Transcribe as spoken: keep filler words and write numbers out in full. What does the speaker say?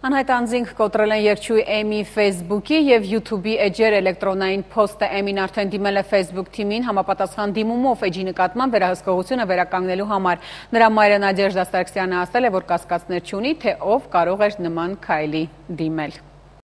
Անհայտ անձինք կոտրել են երգչուհի Էմի Facebook-ի և YouTube-ի էջեր էլեկտրոնային փոստը Էմին արդեն դիմել է Facebook թիմին համապատասխան դիմումով էջի նկատմամբ վերահսկողությունը վերականգնելու համար։ Նրա մայրը Նադեժդա Սարգսյանը ասել է, որ կասկածներ չունի, թե ով կարող էր նման քայլի դիմել։